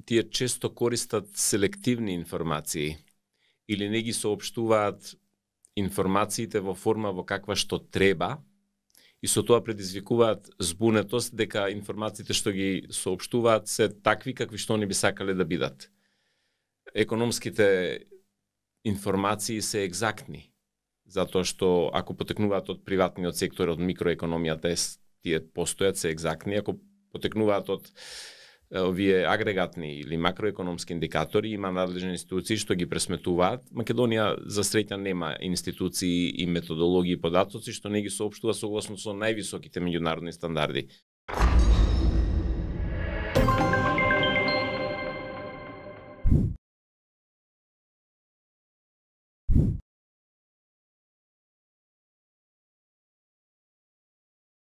тие често користат селективни информации или не ги соопштуваат информациите во форма во каква што треба и со тоа предизвикуваат збунетост дека информациите што ги соопштуваат се такви какви што они би сакале да бидат. Економските информации се екзактни, затоа што ако потекнуваат од приватниот сектор, од микроекономијата, тие постојат, се екзактни, ако потекнуваат од овие агрегатни или макроекономски индикатори, има надлежни институции што ги пресметуваат. Македонија за среќа нема институции и методологии и податоци што не ги соопштува согласно со највисоките меѓународни стандарди.